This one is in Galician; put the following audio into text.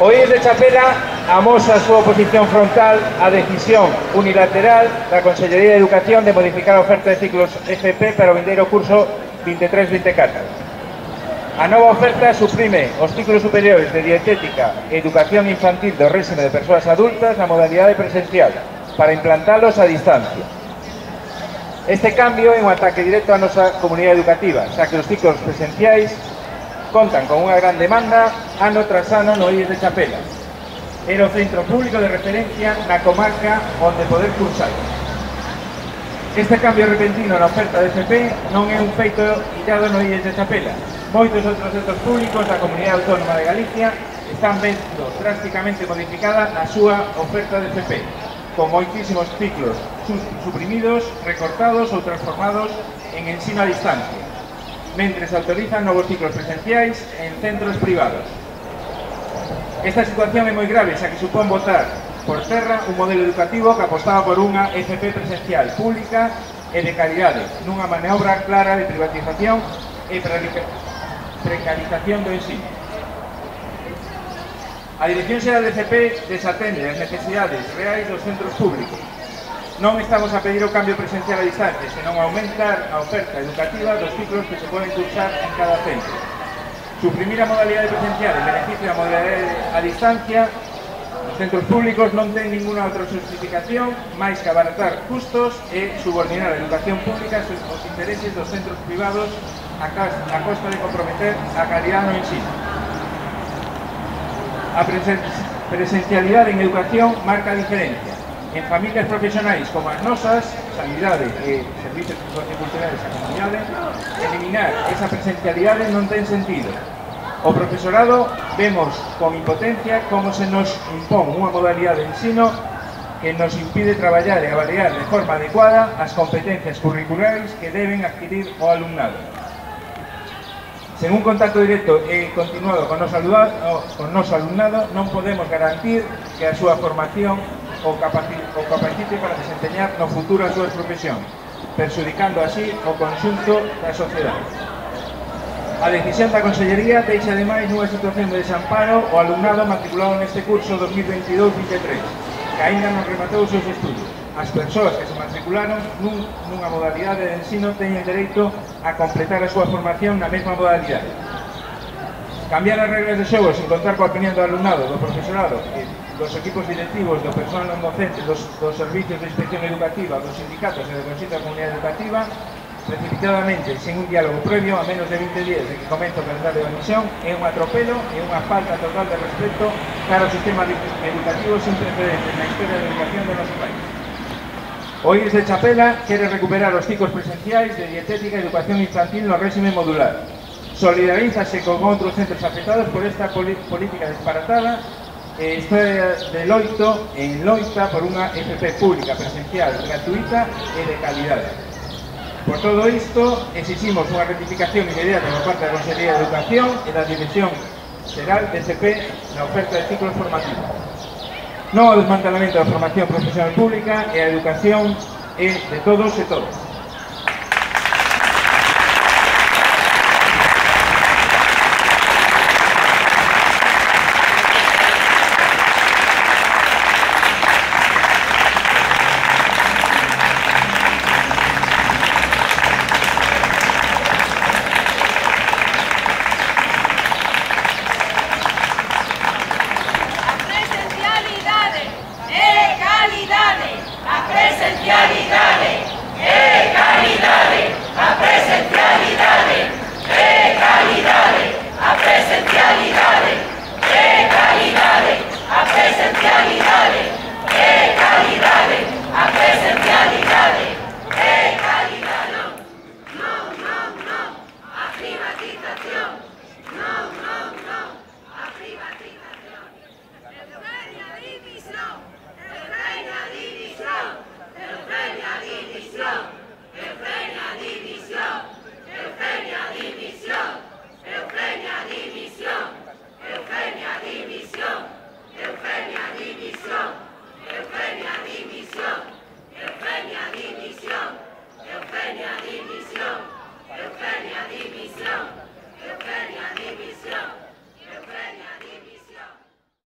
O IES de Chapela amosa a súa oposición frontal á decisión unilateral da Consellería de Educación de modificar a oferta de ciclos FP para o vindeiro curso 23-24. A nova oferta suprime os ciclos superiores de dietética e educación infantil do réxime de persoas adultas na modalidade presencial para implantalos a distancia. Este cambio é un ataque directo á nosa comunidade educativa, xa que os ciclos presenciais contan con unha gran demanda ano tras ano no IES de Chapela. Era o centro público de referencia na comarca onde poder cursar. Este cambio repentino na oferta de FP non é un feito illado no IES de Chapela. Moitos outros centros públicos da Comunidade Autónoma de Galicia están vendo drásticamente modificada a súa oferta de FP, con moitísimos ciclos suprimidos, recortados ou transformados en ensino a distancia, mentres autorizan novos ciclos presenciais en centros privados. Esta situación é moi grave, xa que supón botar por terra un modelo educativo que apostaba por unha FP presencial pública e de calidade, nunha maniobra clara de privatización e precarización do ensino. A Dirección Xeral de FP desatende as necesidades reais dos centros públicos. Non estamos a pedir o cambio presencial a distancia, senón aumentar a oferta educativa dos ciclos que se poden cursar en cada centro. Suprimir a modalidade presencial en beneficio da modalidade a distancia nos centros públicos non ten ninguna outra justificación máis que abaratar custos e subordinar a educación pública aos intereses dos centros privados a costa de comprometer a calidade no ensino. A presencialidade en educación marca a diferencia. En familias profesionais como as nosas, sanidade e servicios socioculturales a comunidade, eliminar esa presencialidade non ten sentido. O profesorado vemos con impotencia como se nos impón unha modalidade de ensino que nos impide traballar e avaliar de forma adecuada as competencias curriculares que deben adquirir o alumnado. Sen un contacto directo e continuado con o noso alumnado non podemos garantir que a súa formación o capacite para desempeñar no futuro a súa profesión, perxudicando así o conxunto da sociedade. A decisión da Consellería deixa ademais nunha situación de desamparo o alumnado matriculado neste curso 2022-23, que aínda non rematou os seus estudos. As persoas que se matricularon nunha modalidade de ensino teñen dereito a completar a súa formación na mesma modalidade. Cambiar as regras de xogo sen contar coa opinión do alumnado, do profesorado e dos equipos directivos, do personal non docente, dos servicios de inspección educativa, dos sindicatos e do Consello da Comunidade Educativa, precipitadamente, sen un diálogo previo, a menos de 20 días de que comece o calendario de admisión, é un atropelo e unha falta total de respeto cara ao sistema educativo sin precedentes na historia da educación do noso país. O IES de Chapela quere recuperar os ciclos presenciais de dietética e educación infantil no réxime modular. Solidarízase con outros centros afectados por esta política disparatada e está de loito en loita por unha FP pública presencial, gratuita e de calidade. Por todo isto, exiximos unha rectificación inmediata por parte da Consellería de Educación e da Dirección Xeral de FP na oferta de ciclos formativos. Non ao desmantelamento da formación profesional pública e a educación é de todos e todas.